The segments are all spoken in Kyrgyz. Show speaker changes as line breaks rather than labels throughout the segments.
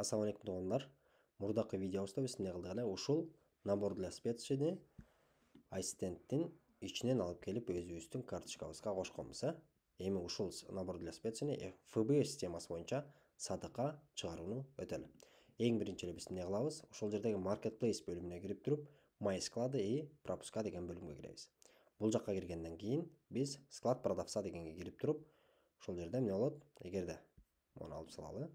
Ассаламу алейкум туугандар. Мурдакы видеобузда биз эмне кылдык эле? Ушул набор для специяны ассистенттин ичинен алып келип өзүбүздүн карточкабызга кошконбуз. Эми ушул набор для специяны ФБ системасы боюнча сатыкка чыгарууну өтөлү. Эң биринчи эле биз эмне кылабыз? Ошол жердеги marketplace бөлүмүнө кирип туруп, my склады и пропуска деген бөлүмгө киребиз. Бул жакка киргенден кийин биз склад продавца дегенге кирип туруп, ошол жерде эмне болот? Эгерде муну алып салалы.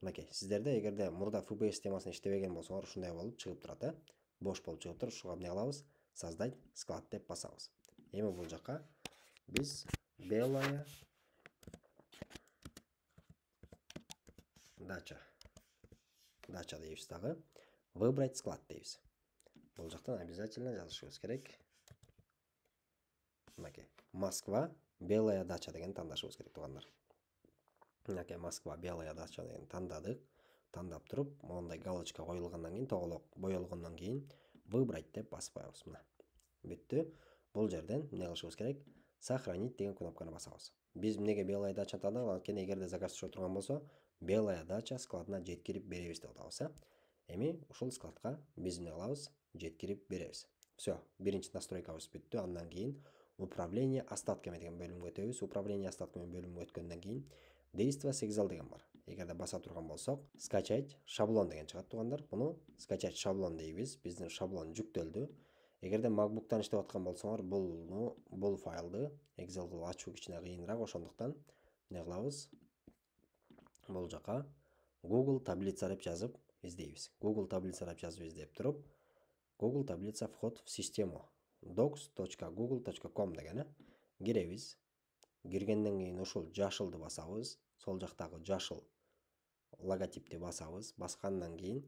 Мынакей, сиздерде эгерде мурда ФБ системасын иштебеген болсоңор, ушундай болуп чыгып турат, бош болуп чыгып туруп, ушуга эмне кылабыз? Создать склад деп басабыз. Эми бул жакка биз белая дача дейбиз дагы, выбрать склад дейбиз. Бул жактан обязательно жазышыбыз керек. Мынакей, Москва белая дача деген тандашыбыз керек туугандар. Мынакей, Москва белая дача деген тандадык. Тандап туруп, мондай галочка коюлгандан кийин, тоголок боелгондон кийин выбрать деп басып коебуз. Мына бүттү. Бул жерден эмне кылышыбыз керек? Сохранить деген кнопканы басабыз. Биз эмнеге белая дача тандадык? Анткени эгерде заказ түшө турган болсо, белая дача складына жеткирип беребиз деп атабыз. Эми ушул складка биз эмне кылабыз? Жеткирип беребиз. Все, биринчи настройкабыз бүттү. Андан кийин управление остатками деген бөлүмгө өтөбүз. Управление остатками бөлүмүнө өткөндөн кийин действо сигнал деген бар. Эгерде баса турган болсок, скачать шаблон деген чыгат туугандар. Буну скачать шаблон дейбиз. Биздин шаблон жүктөлдү. Эгерде MacBook'тан иштеп аткан болсоңор, бул файлды Excel кылып ачуу кичине кыйыныраак, ошондуктан эмне кылабыз? Бул жака Google таблица деп жазып издейбиз. Google таблица деп жазып издеп туруп, Google таблица вход в систему docs.google.com деген киребиз. Киргенден кийин ушул жашылды басабыз. Сол жактагы жашыл логотипти басабыз. Баскандан кийин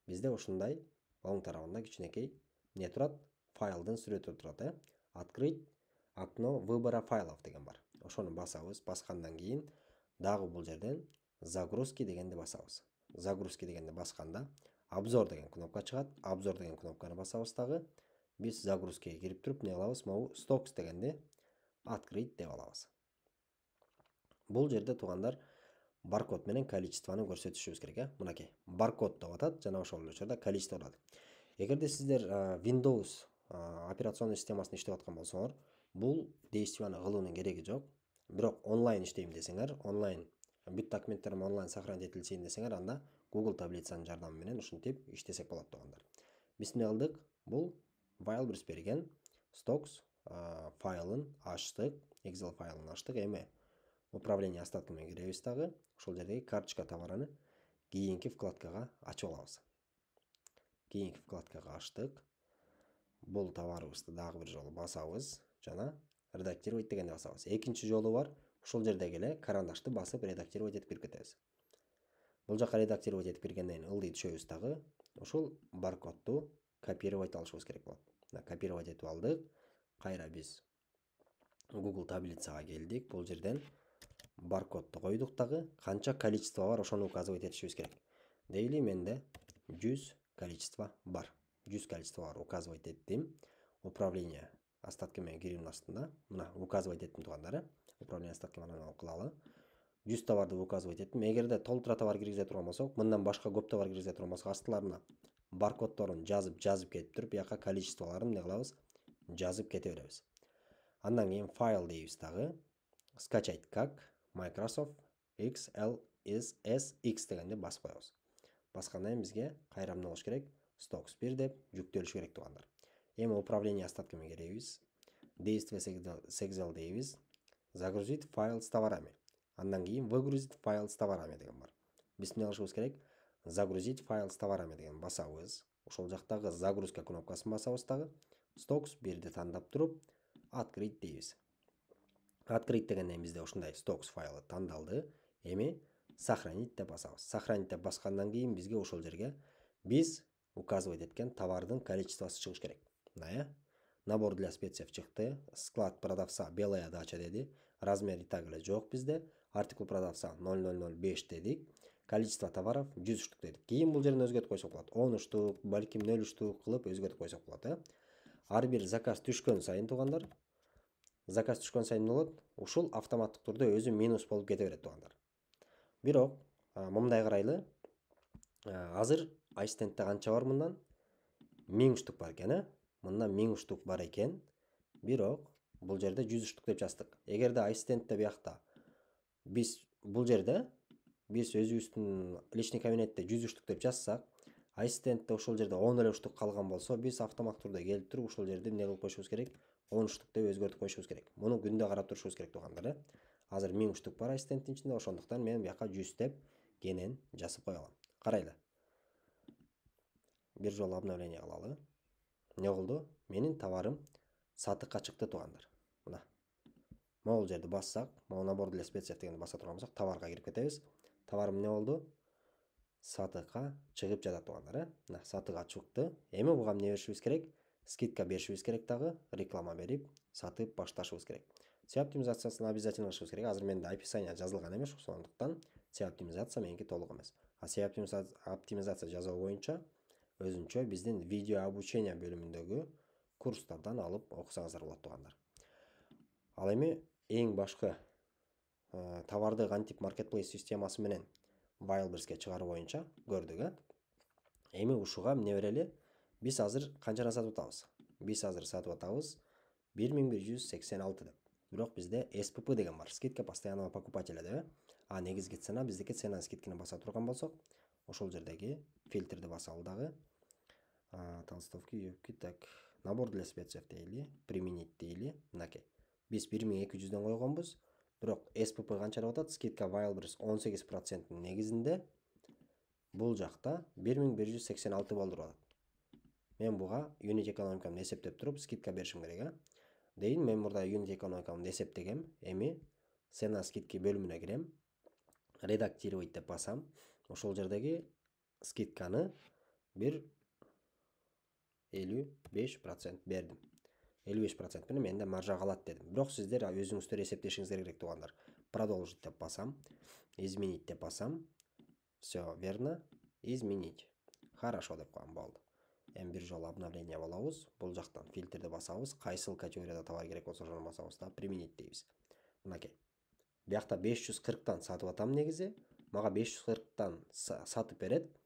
бизде ушундай оң тарабында кичинекей эмне турат? Файлдын сүрөтү турат, Открыть окно выбора файлов деген бар. Ошону басабыз. Баскандан кийин дагы бул жерден загрузки дегенди басабыз. Загрузки дегенди басканда обзор деген кнопка чыгат. Обзор деген кнопканы басабыз дагы. Биз загрузкиге кирип туруп эмне кылабыз? Могу stocks дегенди открыть деп алабыз. Бул жерде туугандар баркод менен количествону көрсөтүшүбүз керек, Мынакей, баркод деп атат, жана ошол эле учурда количество турат. Эгерде сиздер Windows операционный системасын иштеп аткан болсоңор, бул действияны кылуунун кереги жок. Бирок онлайн иштейм десеңер, онлайн бүт документтерим онлайн сохранить этилсин десеңер, анда Google таблицанын жардамы менен ушинтип иштесек болот туугандар. Биз эмне кылдык? Бул Wildberries берген stocks файлын ачтык, Excel файлын ачтык. Эми управление остатками киребиз дагы. Ошол жердеги карточка товарыны кийинки вкладкага ачып алабыз. Кийинки вкладкага ачтык. Бул товарыбызды дагы бир жолу басабыз жана редактировать дегенди басабыз. Экинчи жолу бар. Ушул жердеги эле карандашты басып редактировать этип кирип кетебиз. Бул жака редактировать этип киргенден кийин ылдый түшөбүз дагы. Ушул баркодду копировать алышыбыз керек болот. Копировать этип алдык. Кайра биз Google таблицага келдик. Бул жерден баркодду койдук дагы. Канча количество бар, ошону указывать этишибиз керек. Дейли менде 100 количество бар. 100 количество бар, указывать еттим. Управление остатки менен кирүүнүн астында. Мына указывать еттим туугандар, Управление остатки менен алып кылалы. 100 товарды указывать еттим. Эгерде толтура товар киргизе турган болсок, мындан башка көп товар киргизе турган болсок, астыларына баркоддорун жазып кетип туруп, бияка количестволорун эмне кылабыз? Жазып кете беребиз. Андан кийин файл дейбиз дагы. Скачать как Microsoft XLSX дегенди басып коебуз. Баскандан кийин бизге кайра эмне болуш керек? Stocks 1 деп жүктөлүш керек туугандар. Эми управление остатками киребиз. Действие Excel дейбиз. Загрузить файл с товарами. Андан кийин выгрузить файл с товарами деген бар. Биз эмне кылышыбыз керек? Загрузить файл с товарами деген басабыз. Ошол жактагы загрузка кнопкасын басабыз дагы. Stocks 1ди тандап туруп, открыть дейбиз. Открыть дегенден кийин бизде ушундай stocks файлы тандалды. Эми сохранить деп басабыз. Сохранить деп баскандан кийин бизге ошол жерге биз указывать эткен товардын количествосу чыгыш керек. Мына набор для специй чыкты. Склад продавца белая дача деди. Размери так эле жок бизде. Артикул продавца 0005 дедик. Количество товаров 100 штук дедик. Кийин бул жерден өзгөртүп койсок болот. 10 штук, балким 0 штук кылып өзгөртүп койсок болот, Ар бир заказ түшкөн сайын туугандар, заказ түшкөн сайын эмне болот? Ушул автоматтык түрдө өзү минус болуп кете берет туугандар. Бирок мындай карайлы. Азыр ассистентте канча бар мындан? 1000 штук бар экен, Мындан 1000 штук бар экен. Бирок бул жерде 100 штук деп жаздык. Эгерде ассистентте биякта биз бул жерде биз өзүбүздүн личный кабинетте 100 штук деп жазсак, ассистентте ошол жерде 10 эле штук калган болсо, биз автоматтык турда келип туруп ошол жерде эмне кылып коюшубуз керек? 10 штук деп өзгөртүп коюшубуз керек. Муну күндө карап турушубуз керек туугандар. Азыр 1000 штук бар ассистенттин ичинде, ошондуктан мен бияка 100 деп кенен жазып кое алам. Карайлы. Бир жолу обновление кылалы. Эмне болду? Менин товарым сатыкка чыкты туугандар. Мына. Могул жерди бассак, могу набор для специй дегенди баса турган болсок, товарга кирип кетебиз. Товарым эмне болду? Сатыкка чыгып жатат туугандар. Мына сатыкка чыкты. Эми буга эмне беришибиз керек? Скидка беришибиз керек дагы, реклама берип, сатып башташыбыз керек. SEO оптимизациясын обязательно кылышыбыз керек. Азыр менде описание жазылган эмес, ошондуктан SEO оптимизация меники толук эмес. SEO оптимизация жазуу боюнча өзүнчө биздин видео обучение бөлүмүндөгү курстардан алып окусаңыздар болот туугандар. Ал эми эң башкы товарды кантип маркетплейс системасы менен Wildberries'ке чыгаруу боюнча көрдүк. Эми ушуга эмне берели? Биз азыр канчадан сатып атабыз? Биз азыр сатып атабыз 1186 деп. Бирок бизде SPP деген бар. Скидка постоянного покупателя деп. А негизги цена биздики цена скидканы баса турган болсок, ошол жердеги фильтрди басалы дагы. Толстовки, юбки, так. Набор для специй дейли, применить дейли. Мынакей. Биз 1200дөн койгонбуз. Бирок SPP канча деп атат? Скидка Wildberries 18% негизинде бул жакта 1186 болдуруп атат. Мен буга unit экономикамды эсептеп туруп скидка беришим керек, дейин. Мен мурда unit экономикамды эсептегем. Эми цена скидки бөлүмүнө кирем. Редактировать деп басам. Ошол жердеги скидканы бир 55% бердим. 55% менен менде маржа калат дедим. Бирок сиздер өзүңүздөр эсептешиңиздер керек туугандар. Продолжить деп басам. Изменить деп басам. Все верно. Изменить. Хорошо деп коем, болду. Эми бир жолу обновление болобуз. Бул жактан фильтрди басабыз. Кайсыл категорияда товар керек болсо ошону басабыз да применить дейбиз. Мынакей. Биякта 540тан сатып атам негизи. Мага 540тан сатып берет.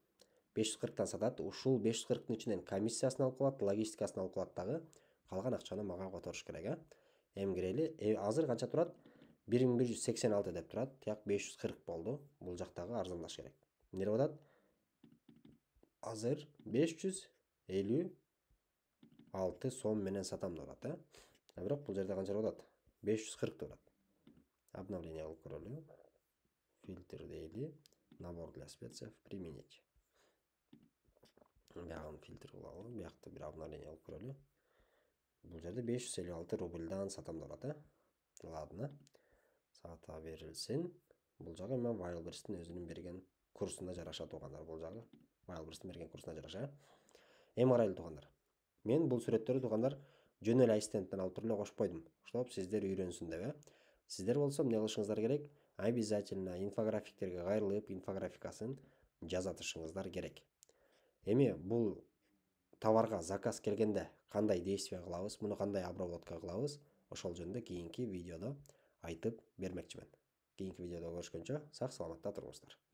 540тан сатат. Ушул 540тын ичинен комиссиясын алып калат, логистикасын алып калат дагы. Калган акчаны мага которуш керек, Эми кирели. Азыр канча турат? 1186 деп турат. Тияк 540 болду. Бул жактагы арзандаш керек. Эмне деп атат? Азыр 556 сом менен сатам деп атат, Бирок бул жерде канча деп атат? 540 деп атат. Обновление кылып көрөлү. Фильтр дейли. Набор для специй применить. Бягын фильтр кылалы. Биякта бир обновление кылып көрөлү. Бул жерде 556 рубльдан сатам деп атат, Ладно. Сата берилсин. Бул жагы эми Wildberries'тин өзүнүн берген курсуна жараша туугандар. Бул жагы Wildberries'тин берген курсуна жараша. Эми карайлы туугандар. Мен бул сүрөттөрдү туугандар жөн эле ассистенттен алып туруп эле кошуп койдум. Чтоб сиздер үйрөнсүн деп, Сиздер болсо эмне кылышыңыздар керек? Обязательно инфографиктерге кайрылып, инфографикасын жазатышыңыздар керек. Эми бул товарга заказ келгенде кандай действие кылабыз, муну кандай обработка кылабыз, ошол жөнүндө кийинки видеодо айтып бермекчимин. Кийинки видеодо көрүшкөнчө сак саламатта туруңуздар.